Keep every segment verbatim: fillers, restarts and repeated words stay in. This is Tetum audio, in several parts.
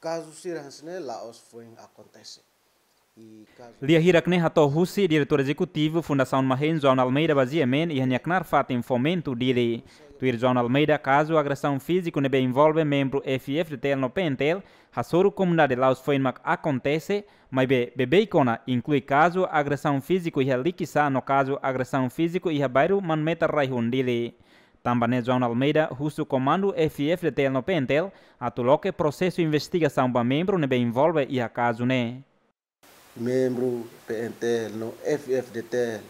kazu sira hanesan ne'e la'ós foin akontese. I kazu Lia hirak ne'e hato'o husi Diretór Ezekutivu Fundasaun Mahen, João Almeida, ba G M N iha nia knaar fatin Fomento, Dili. Tuir João Almeida, kazu agresaun fíziku ne'ebé envolve membru F I F D T L no P N T L hasoru komunidade la'ós foin mak akontese, maibé beibeik ona inklui kazu agresaun fíziku iha Likisá no kazu agresaun fíziku iha bairru Manmeta Raihun, Dili. Tanba ne'e João Almeida husu komandu F I F D T L no P N T L atu loke prosesu investigasaun ba membru ne'ebé envolve iha kazu ne'e. Membru P N T L no F I F D T L,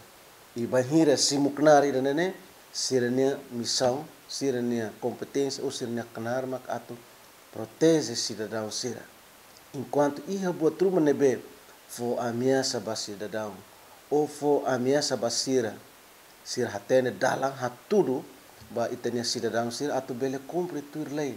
i bainhira simu knaar ida-ne'e ne'e, sira-nia misaun, sira-nia kompeténsia ou sira-nia knaar mak atu proteje sidadaun sira. Enkuantu iha buat ruma ne'ebé fó ameasa ba sidadaun ou fó ameasa ba sira, sira hatene dalan hatudu ba ita-nia sidadaun sira atu bele kumpre tuir lei,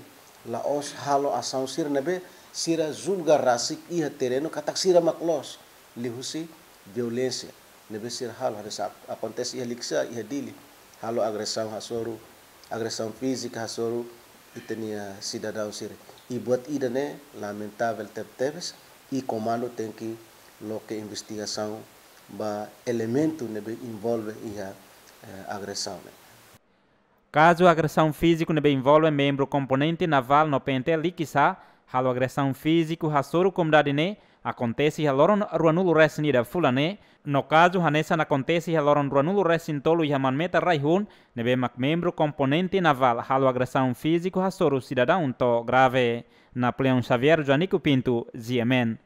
la'ós halo asaun sira ne'ebé sira julga rasik iha terrenu katak sira mak loos liuhusi violénsia ne'ebé sira halo. Hanesan akontese iha Likisá, iha Dili, halo agresaun hasoru, agresaun fízika hasoru ita-nia sidadaun sira. I buat ida-ne'e lamentavel tebetebes, i komandu tenke loke investigasaun ba elementu ne'ebé envolve iha, eh, agresaun ne'e. Kazu agresaun fíziku ne'ebé envolve membru komponente Naval no P N T L Likisá halo agresaun fíziku hasoru komunidade ne'e akontese iha loron ruanulu resin ida fulan ne'e, no kazu hanesan akontese iha loron ruanulu resin tolu iha Manmeta Raihun, ne'ebé mak membru komponente Naval halo agresaun fíziku hasoru sidadaun to'o grave. Napoleão Xavier, Joanico Pinto, G M N.